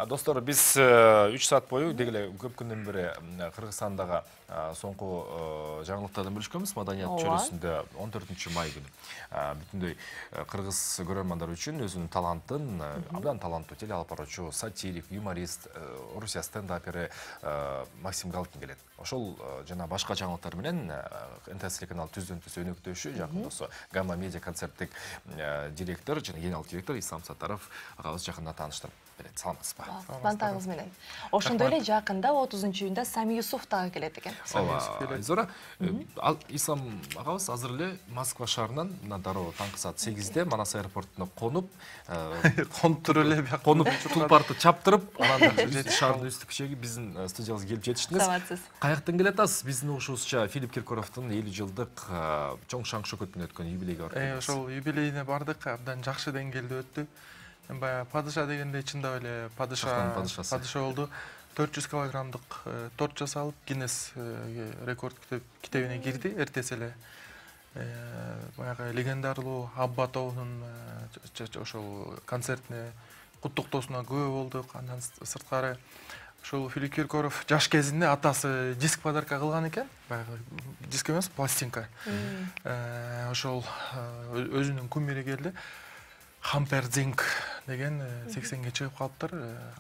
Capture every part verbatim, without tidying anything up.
Достор, биз үч саат бою дегеле көп күндөн бери Кыргызстандагы соңку жаңылыктардан бөлүшкөнбүз. Маданият чөйрөсүндө он төртүнчү май күнү бүтүндөй кыргыз көрөрмандар үчүн өзүнүн талантын, абдан таланттуу теле алып баруучу, сатирик, юморист, Орусия стендапери Максим Галкин келет. Ошол жана башка жаңылыктар менен эн тэ эс телеканал түздөн түз өнөктөшү, жакында ошо Гамма медиа концерттик директор жана генералдык директор Ислам Саттаров агабыз жакында тааныштырып берет. Саламатсызбы? Бантагыңыз менен. Ошондой эле жакында отузунчу июнда Сами Юсуф дагы келет экен. Зора, Ислам агабыз азыр эле Москва шаарынан мына дароо таңкы саат сегизде Манас аэропортуна конуп, конуп эле бияк конуп тулпарды чаптырып, анан шаардын үстү кичеги биздин студиябызга келип жетиштиңиз. Саламатсыз. Каяктан келе атасыз? Биздин угушубузча Филипп Киркоровдун элүү жылдык чоң шаң шөкөтүнөн өткөн юбилейге барып. Ошол юбилейине бардык, абдан жакшы деңгээлде өттү. Баягы падыша дегенде чындап эле падыша падыша болду. төрт жүз килограммдык торт жасалып, Гиннес рекорд китебине кирди. Эртеси эле баягы легендарлуу Абба тобунун ошол концертине куттуктоосуна күбө болдук. Андан сырткары ошол Филипп Киркоров жаш кезинде атасы диск подарка кылган экен. Баягы диск эмес, пластинка. Ошол өзүнүн кумири келди. Хампер Зинг деген сексенге чыгып калыптыр.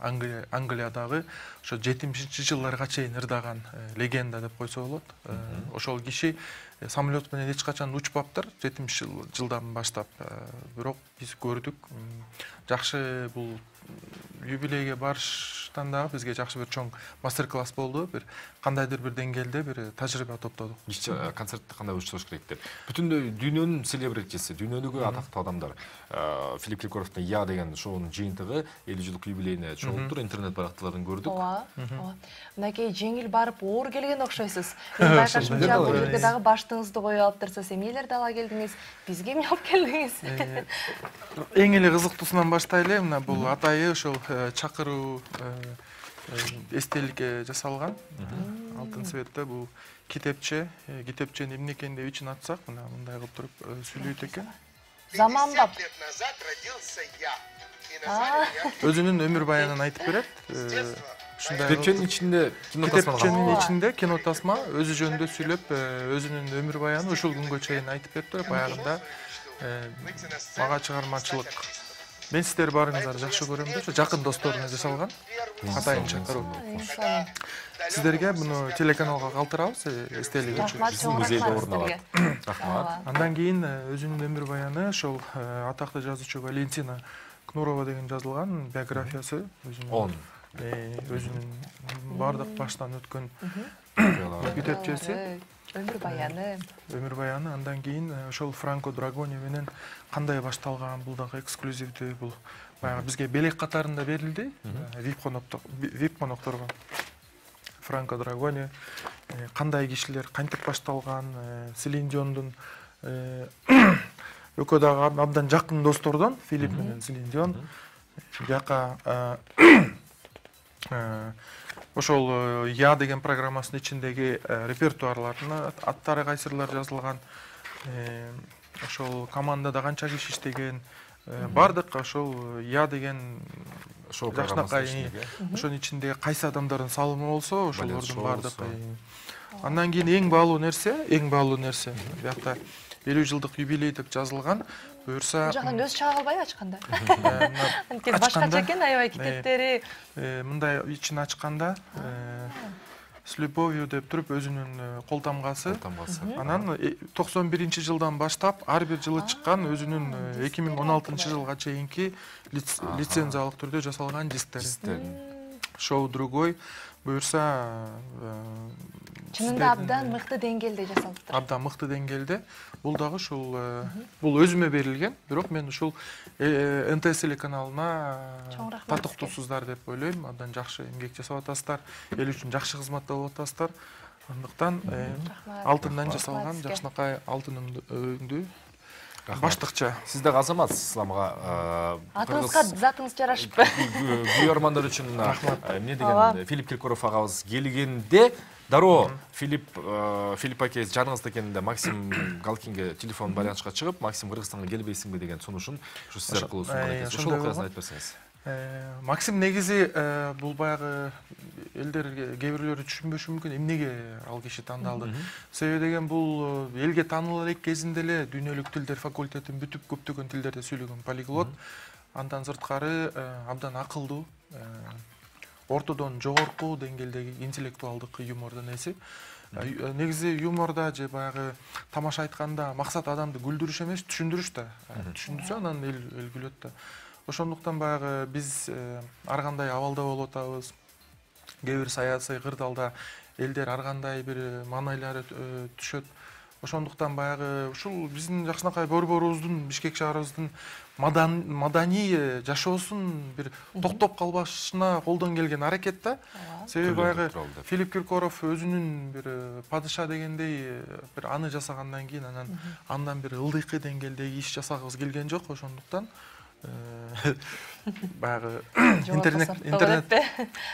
Англиядагы ошо жетимишинчи жылдарга чейин ырдаган легенда деп койсо болот. Ошол киши самолет менен эч качан учпаптыр, жетимиш жылдан баштап. Бирок биз көрдүк. Жакшы бул юбилейге барыштан дагы бизге жакшы бир чоң мастер-класс болду. Бир кандайдыр бир деңгээлде бир тажрыйба топтодук. Концертти кандай учтуш керек деп. Бүтүндөй дүйнөнүн селебритиси, дүйнөдөгү атактуу адамдар Филипп Киркоровдун Я деген шоунун жыйынтыгы элүү жылдык юбилейине чогулуптур. Интернет барактууларын көрдүк. Ооба. Мынакей жеңил барып оор келген окшойсуз. Мен байкашымча бул жерге дагы баштыгыңызды коюп алыптырсыз. Эмнелерди ала келдиңиз? Бизге эмне алып келдиңиз? Эң эле кызыктуусунан баштайлы. Мына бул атайы ошол чакыруу эстеликке жасалган. Алтын цветте бул китепче. Китепченин эмне экенин деп ичин ачсак, мына мындай кылып туруп сүйлөйт экен. Заманбап. Өзүнүн өмүр баянын айтып берет. Китепченин ичинде кино тасма. Китепченин ичинде кино тасма өзү жөнүндө сүйлөп, өзүнүн өмүр баянын ушул күнгө чейин айтып бериптир. Баягында мага чыгармачылык. Мен сиздер барыңыздар жакшы көрөм деп, жакын досторуна жасалган. Атайын чакыруу. Сиздерге муну телеканалга калтырабыз, эстелик үчүн. Биздин музейде орун алат. Рахмат. Андан кийин өзүнүн өмүр баяны ошол атактуу жазуучу Валентина Кнурова деген жазылган биографиясы. он. Өзүнүн бардык баштан өткөн китепчеси. Өмүр баяны. Өмүр баяны. Андан кийин ошол Франко Драгони менен кандай башталган, бул дагы эксклюзивдүү, бул баягы бизге белек катарында берилди. вип вип конокторго. Франко Драгони кандай кишилер, кантип башталган, Селин Диондун экөө дагы абдан жакын достордон, Филипп менен Селин Дион. Бияка ошол Я деген программасынын ичиндеги репертуарлардын аттары кайсырлар жазылган, ошол командада канча киши иштеген, бардык ошол Я деген шоу жакшынакай ошонун ичинде кайсы адамдардын салымы болсо, ошолордун бардык. Андан кийин эң баалуу нерсе, эң баалуу нерсе биякта элүү жылдык юбилей деп жазылган. Буюрса, жактан көз чыга калбайбы ачканда? Анткени башкача экен аябай китептери. Мындай ичин ачканда с любовью деп туруп өзүнүн кол тамгасы. Анан токсон биринчи жылдан баштап ар бир жылы чыккан өзүнүн эки миң он алтынчы жылга чейинки лицензиялык түрдө жасалган дисктер. Шоу другой. Буюрса, чынында абдан мыкты деңгээлде жасалыптыр. Абдан мыкты деңгээлде. Бул дагы ушул бул өзүмө берилген, бирок мен ушул эн тэ эс телеканалына татыктуусуздар деп ойлойм. Абдан жакшы эмгек жасап атасыздар, эл үчүн жакшы кызматта болуп атасыздар. Андыктан алтындан жасалган жакшынакай алтын өңдүү баштыкча. Сиз дагы азаматсыз Исламга. Атыңызга затыңыз жарашпы. Күйөрмандар үчүн эмне деген Филипп Киркоров агабыз келгенде дароо Филипп Филипп акеңиз жаныңызда экенинде Максим Галкинге телефон байланышка чыгып, Максим Кыргызстанга келбейсиңби деген сунушун ушу сиз аркылуу сунган экенсиз. Ошол окуясын айтып берсеңиз. Максим негизи бул баягы элдер кээ бирлери түшүнбөшү мүмкүн эмнеге ал киши тандалды. Себеби деген бул элге таанылар элек кезинде эле дүйнөлүк тилдер факультетин бүтүп көптөгөн тилдерде сүйлөгөн полиглот. Андан сырткары абдан акылдуу, ортодон жогорку деңгээлдеги интеллектуалдык юмордун эси. Негизи юморда же баягы тамаша айтканда максат адамды күлдүрүш эмес, түшүндүрүш да. Түшүндүрсө анан эл эл күлөт да. Ошондуктан баягы биз ар кандай абалда болуп атабыз. Кээ бир саясий кырдаалда элдер ар кандай бир маанайлары түшөт. Ошондуктан баягы ушул биздин жакшынакай борборубуздун, Бишкек шаарыбыздын маданий жашоосун бир токтоп калбашына колдон келген аракет да. Себеби баягы Филипп Киркоров өзүнүн бир падыша дегендей бир аны жасагандан кийин анан андан бир ылдыйкы деңгээлдеги иш жасагыбыз келген жок. Ошондуктан баягы интернет интернет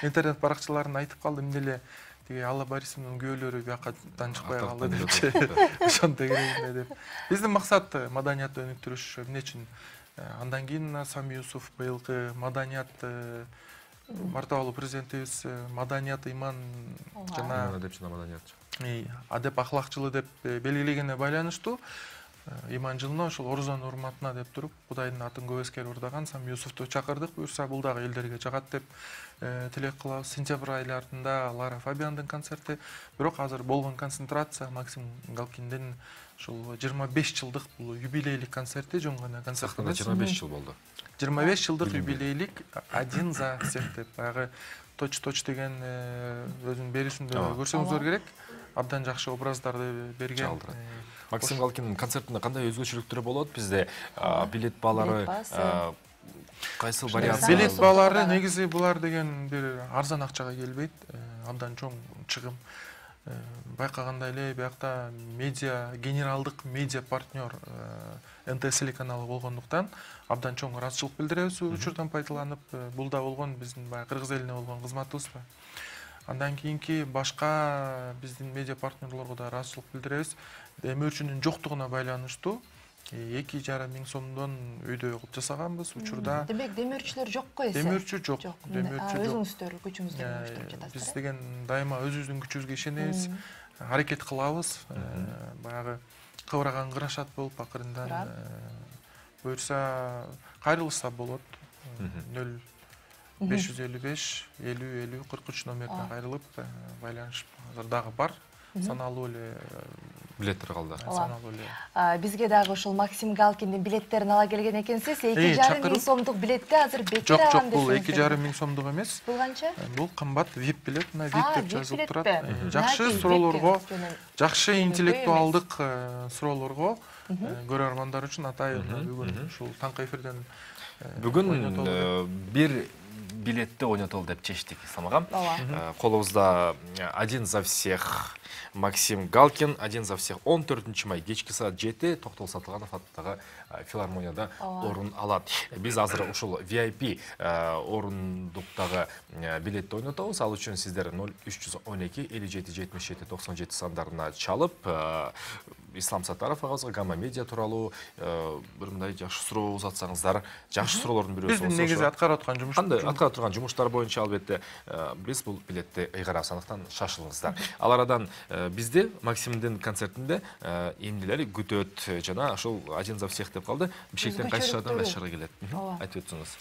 интернет баракчаларын айтып калды, эмне эле тиги Алла Борисовнун күйөөлөрү биякадан чыкпай калды депчи. Ошонто керек деп. Биздин максат маданиятты өнүктүрүш. Эмне үчүн? Андан кийин Сам Юсуф быйылкы маданият мартабалуу президентибиз маданият иман жана деп жана маданият адеп ахлак деп белгилегенине байланыштуу иман жылына ошол Орузанын урматына деп туруп Кудайдын атын көп эскерип урдаган Сам Юсуфту чакырдык. Буюрса бул дагы элдерге жагат деп тилек кылабыз. Сентябрь айларында Лара Фабиандын концерти. Бирок азыр болгон концентрация Максим Галкиндин ушул жыйырма беш жылдык бул юбилейлик концерти, жөн гана концерт эмес. жыйырма беш жыл болду. жыйырма беш жылдык юбилейлик один за всех деп баягы точ-точ деген өзүнүн берүүсүндө көрсөңүздөр керек. Абдан жакшы образдарды берген. Максим Галкиндин концертинде кандай өзгөчөлүктөр болот? Бизде билет баалары кайсы вариант? Билет баалары негизи булар деген бир арзан акчага келбейт. Абдан чоң чыгым. Байкагандай эле биякта медиа генералдык медиа партнер эн тэ телеканалы болгондуктан абдан чоң ыраазычылык билдиребиз учурдан пайдаланып. Бул да болгон биздин баягы кыргыз элине болгон кызматыбыз. Андан кийинки башка биздин медиа партнерлорго да ыраазычылык билдиребиз. Демөөрчүнүн жоктугуна байланыштуу эки жарым миң сомдон өйдө кылып жасаганбыз учурда. Демек демөөрчүлөр жокко эсе? Демөөрчү жок. Демөөрчү жок. Өзүңүздөр күчүңүздү иштеп жатасыздар. Биз деген дайыма өзүбүздүн күчүбүзгө ишенебиз, аракет кылабыз. Баягы кыбыраган кырашат болуп акырындан буюрса кайрылышса болот. нөл беш жүз элүү беш элүү элүү кырк үч номерине кайрылып байланышып азыр дагы бар. Саналуу эле билеттер калды. Саналуу эле. Бизге дагы ушул Максим Галкиндин билеттерин ала келген экенсиз. эки жарым миң сомдук билетти азыр бекер алам десеңиз. Жок, бул эки жарым миң сомдук эмес. Бул канча? Бул кымбат вип билет, мына вип деп жазылып турат. Жакшы суроолорго, жакшы интеллектуалдык суроолорго көрөрмандар үчүн атайын бүгүн ушул таңкы эфирден бүгүн бир билетти ойнотолу деп чечтик, Ислам агам. Колубузда один за всех Максим Галкин, один за всех он төртүнчү май кечки саат жети Токтол Сатылганов аттагы филармонияда орун алат. Биз азыр ушул ви ай пи орундуктагы билетти ойнотобуз. Ал үчүн сиздер нөл үч жүз он эки элүү жети жетимиш жети токсон жети сандарына чалып, Ислам Саттаров агабызга Гамма Медиа тууралуу бир мындай жакшы суроо узатсаңыздар, жакшы суроолордун бирөөсү болсо. Биздин негизи аткарып аткан жумуш. Кандай аткарып турган жумуштар боюнча албетте биз бул билетти ыйгарабыз, андыктан шашылыңыздар. Ал арадан бизди Максимдин концертинде эмнелер күтөт жана ошол один за всех деп калды. Бишкектен кайсы шаардан кайсы шаарга келет? Айтып өтсөңүз.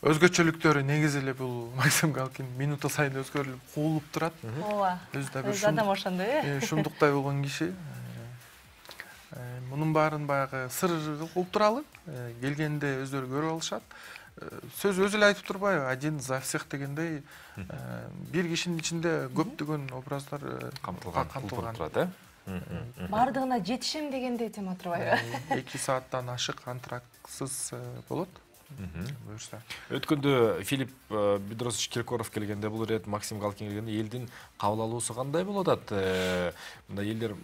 Өзгөчөлүктөрү негизи эле бул Максим Галкин минута сайын өзгөрүлүп, куулуп турат. Ооба. Өзү да бир адам ошондой э. Шумдуктай болгон киши. Мунун баарын баягы сыр кылып туралы, келгенде өздөрү көрүп алышат. Сөз өзү эле айтып турбайбы? Один за всех дегендей бир кишинин ичинде көптөгөн образдар камтылган турат, э? Бардыгына жетишем дегендей тема турбайбы? эки сааттан ашык антрактсыз болот. Буюрса. Өткөндө Филипп Бедросович Киркоров келгенде, бул ирет Максим Галкин келгенде элдин кабыл алуусу кандай болот атат? Мындай элдер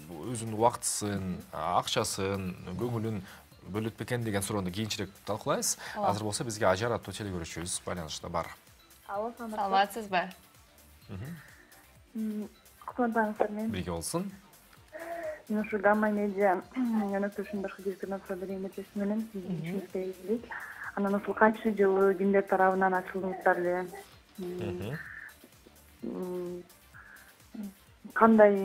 өзүнүн убактысын, акчасын, көңүлүн бөлөт бекен деген суроону кийинчерээк талкуулайбыз. Азыр болсо бизге Ажар аттуу телегөрүүчүбүз байланышта бар. Алло, саламатсызбы? Кутмандаңыздар мен. Бирге болсун. Мен ушу Гамма Медиа өнөктөшүнүн башкы директоруна суроо берейин деп чечтим элем. Сиздин ишиңизге ийгилик. Анан ушул кайсы жылы кимдер тарабынан ачылдыңыздар эле? Кандай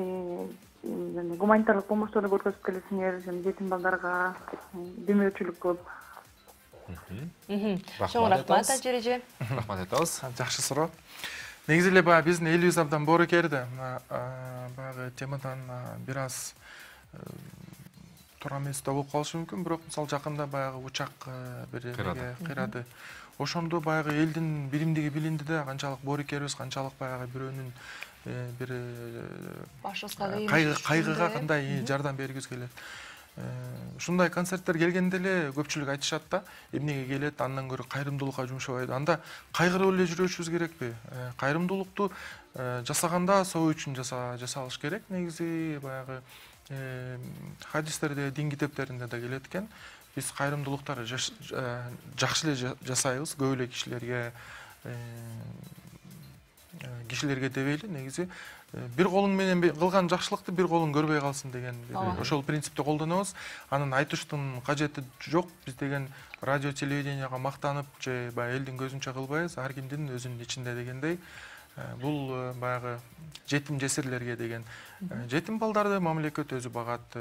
гуманитарлык помощторду көрсөтүп келесиңер, жетим балдарга, демөөрчүлүк кылып? Чоң рахмат ажереже. Рахмат айтабыз. Жакшы суроо. Негизи эле баягы биздин элибиз абдан боорукер да. Баягы темадан бир аз туура эмес да болуп калышы мүмкүн, бирок мисалы жакында баягы учак бир жерге кыйрады. Ошондо баягы элдин биримдиги билинди да, канчалык боорукербиз, канчалык баягы бирөөнүн бир кайгыга кандай жардам бергибиз келет. Ушундай концерттер келгенде эле көпчүлүк айтышат да, эмнеге келет, андан көрө кайрымдуулукка жумшабайды. Анда кайгырып эле жүрүшүбүз керекпи? Кайрымдуулукту жасаганда соо үчүн жасалыш керек. Негизи баягы хадистерде, дин китептеринде да келет экен. Биз кайрымдуулуктарды жакшы эле жасайбыз, көп эле кишилерге кишилерге дебейли, негизи бир колуң менен кылган жакшылыкты бир колуң көрбөй калсын деген ошол принципти колдонобуз. Анын айтыштын кажети жок. Биз деген радио, телевиденияга мактанып же баягы элдин көзүнчө кылбайбыз, ар кимдин өзүнүн ичинде дегендей. Бул баягы жетим жесирлерге деген. Жетим балдарды мамлекет өзү багат.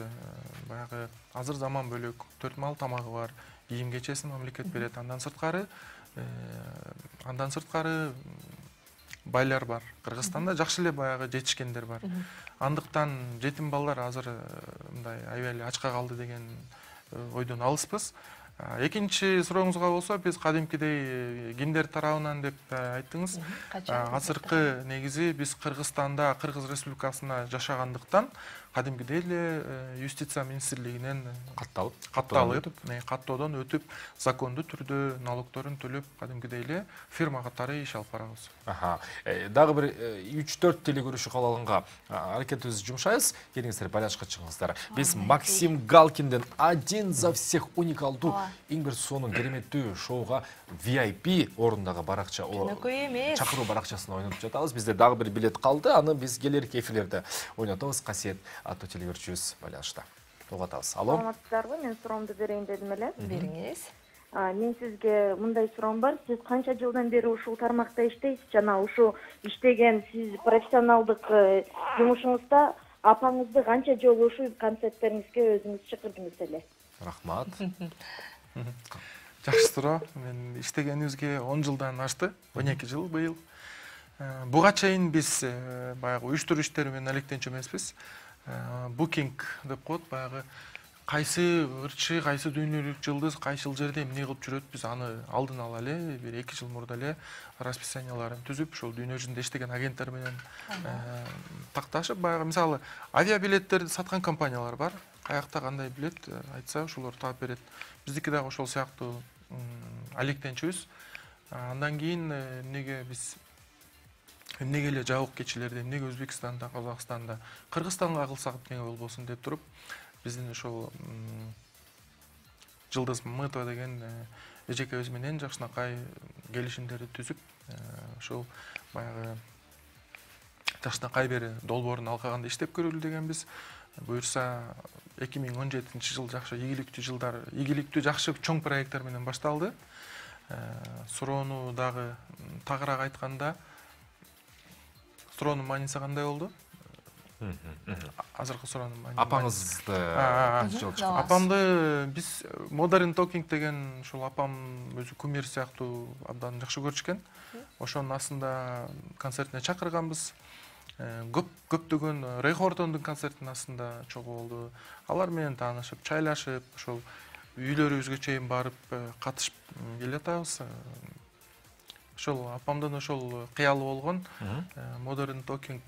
Баягы азыр заман бөлөк, төрт мал тамагы бар, кийим кечесин мамлекет берет. Андан сырткары андан сырткары байлар бар. Кыргызстанда жакшы эле баягы жетишкендер бар. Андыктан жетим балдар азыр мындай аябай эле ачка калды деген ойдон алыспыз. Экинчи сурооңузга болсо, биз кадимкидей кимдер тарабынан деп айттыңыз. Азыркы негизи биз Кыргызстанда, Кыргыз Республикасына жашагандыктан кадимкидей эле юстиция министрлигинен катталып, катталып, каттоодон өтүп, закондуу түрдө налогторун төлөп, кадимкидей эле фирма катары иш алып барабыз. Аха. Дагы бир үч төрт телекөрүүчү кабыл аракетибизди жумшайбыз. Келиңиздер, байланышка чыгыңыздар. Биз Максим Галкинден «Один за всех» уникалдуу эң бир сонун кереметтүү шоуга ви ай пи орундагы баракча, чакыруу баракчасына ойнотуп жатабыз. Бизде дагы бир билет калды. Аны биз келерки эфирлерде ойнотобуз. Касиет аттуу телевизорчубуз байланышта. Угатабыз. Алло. Саламатсыздарбы? Мен суроомду берейин дедим эле. Бериңиз. Мен сизге мындай суроом бар. Сиз канча жылдан бери ушул тармакта иштейсиз? Жана ушул иштеген сиз профессионалдык жумушуңузда апаңызды канча жолу ушул концерттериңизге өзүңүз чакырдыңыз эле? Рахмат. Жакшы суроо. Мен иштегенибизге он жылдан ашты. он эки жыл быйыл. Буга чейин биз баягы уюштуруу иштери менен алектенчү эмеспиз. Букинг деп коет, баягы кайсы ырчы, кайсы дүйнөлүк жылдыз, кайсыл жерде эмне кылып жүрөт, биз аны алдын ала эле бир эки жыл мурда эле расписанияларын түзүп, ошол дүйнө жүзүндө иштеген агенттер менен такташып, баягы мисалы авиабилеттерди саткан компаниялар бар. Каякта кандай билет айтса, ошолор таап берет. Биздики дагы ошол сыяктуу алектенчүбүз. Андан кийин эмнеге биз эмнеге эле жабык кечилерди, эмнеге Өзбекстанда, Казакстанда, Кыргызстанга кылсак эмнеге болбосун деп туруп, биздин ошол Жылдыз Мамытова деген эжекебиз менен жакшынакай келишимдерди түзүп, ошол баягы жакшынакай бери долбоорун алкаганда иштеп көрөлү дегенбиз. Буюрса эки миң он жетинчи жыл жакшы ийгиликтүү жылдар, ийгиликтүү жакшы чоң проекттер менен башталды. Суроону дагы тагыраак айтканда, суроонун мааниси кандай болду? Азыркы суроонун мааниси. Апаңызды апамды биз Modern Talking деген ушул апам өзү кумир сыяктуу абдан жакшы көрүшкөн. Ошонун астында концертине чакырганбыз. Көп көптөгөн Рэй Хортондун концертинин астында чогуу болду. Алар менен таанышып, чайлашып, ошол үйлөрүбүзгө чейин барып катышып келатабыз. Ошол апамдын ошол кыялы болгон Modern Talking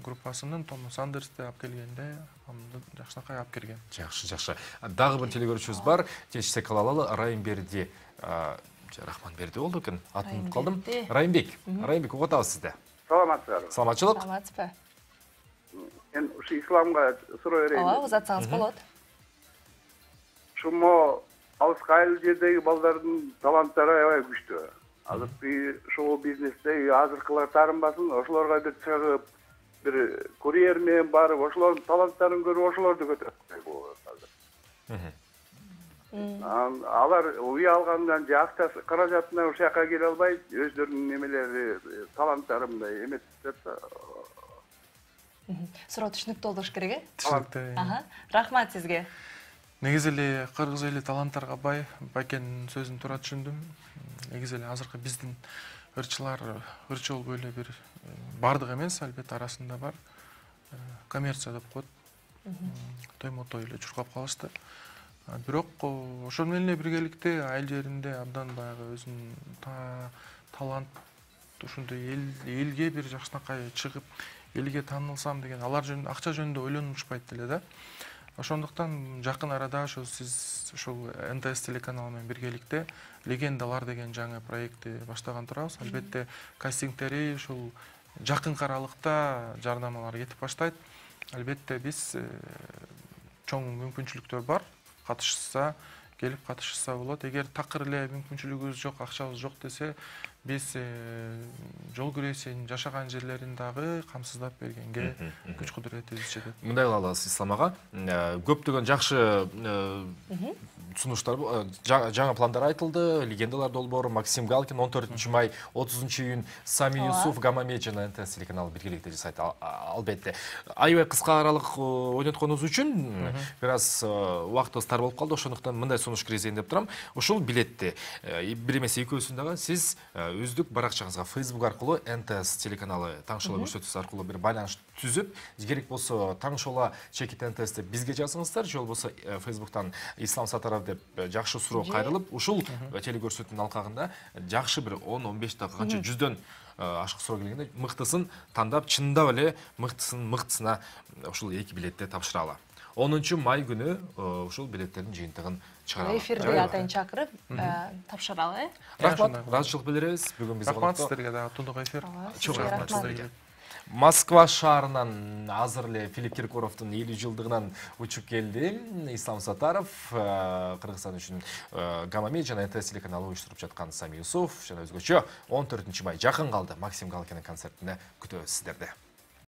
группасынын Томас Андерсти алып келгенде апамды жакшынакай алып келген. Жакшы, жакшы. Дагы бир телекөрүүчүбүз бар. Кечсе калалалы Райымберди, Рахманберди болду экен. Атын унутуп калдым. Райымбек. Райымбек, угатабыз сизди. Саламатсыздарбы? Саламатчылык. Саламатсызбы? Мен ушу исламга суроо берейин. Ооба, узатсаңыз болот. Шумо алыска айыл жердеги балдардын таланттары аябай күчтүү. Азыркы шоу бизнесте азыркылар таарынбасын, ошолорго бир чыгып, бир курьер менен барып, ошолордун таланттарын көрүп, ошолорду көтөрүп койгу азыр. Алар үй алгандан же акчасы каражатынан ушул жака келе албай, өздөрүнүн немелери, таланттары мындай эмес жатса. Суроо түшүнүктүү болуш керек, э? Түшүнүктүү. Рахмат сизге. Негизи эле кыргыз эли таланттарга бай, Бакенин сөзүн туура түшүндүм. Негизи эле азыркы биздин ырчылар ырчы болбой эле бир бардык эмес, албетте арасында бар. Коммерция деп коет. Тоймотой эле чуркап калышты. Бирок ошол менен эле биргеликте айыл жеринде абдан баягы өзүнүн талант ушундай элге бир жакшынакай чыгып, элге таанылсам деген алар жөнүндө акча жөнүндө ойлонушпайт эле да. Ошондуктан жакын арада ошол сиз ошол эн тэ эс телеканалы менен биргеликте Легендалар деген жаңы проектти баштаган турабыз. Албетте кастингтери ушул жакынкы аралыкта жардамалар кетип баштайт. Албетте биз чоң мүмкүнчүлүктөр бар. Катышса, келип катышса болот. Эгер такыр эле мүмкүнчүлүгүбүз жок, акчабыз жок десе, биз жол күресин жашаган жерлерин дагы камсыздап бергенге күч кудуретибиз жетет. Мындай кылабыз Ислам ага. Көптөгөн жакшы сунуштар, жаңы пландар айтылды. Легендалар долбоору, Максим Галкин он төртүнчү май, отузунчу июнь Сами Юсуф, Гамамет жана эн тэ эс телеканалы биргеликте жасайт. Албетте. Аябай кыска аралык ойнотконубуз үчүн бир аз убактыбыз тар болуп калды. Ошондуктан мындай сунуш киргизейин деп турам. Ушул билетти бир эмес экөөсүн дагы сиз өздүк баракчаңызга Facebook аркылуу эн тэ эс телеканалы таңшола көрсөтүүсү аркылуу бир байланыш түзүп, керек болсо таңшола чекит эн тэ эс деп бизге жазыңыздар, же болбосо Facebooктан Ислам Сатаров деп жакшы суроо кайрылып, ушул телекөрсөтүүнүн алкагында жакшы бир он он беш дагы канча жүздөн ашык суроо келгенде мыктысын тандап, чындап эле мыктысын мыктысына ушул эки билетти тапшыралы. онунчу май күнү ушул билеттердин жыйынтыгын чыгаралы. Эфирде атайын чакырып тапшыралы, э? Рахмат, ыраазычылык билдиребиз. Бүгүн биз рахмат сиздерге да тундук эфир. Чоң рахмат сиздерге. Москва шаарынан азыр эле Филипп Киркоровдун элүү жылдыгынан учуп келди. Ислам Сатаров Кыргызстан үчүн Гамамет жана эн тэ эс телеканалы уюштуруп жаткан Сами Юсуф жана өзгөчө он төртүнчү май жакын калды. Максим Галкинин концертине күтөбүз сиздерди.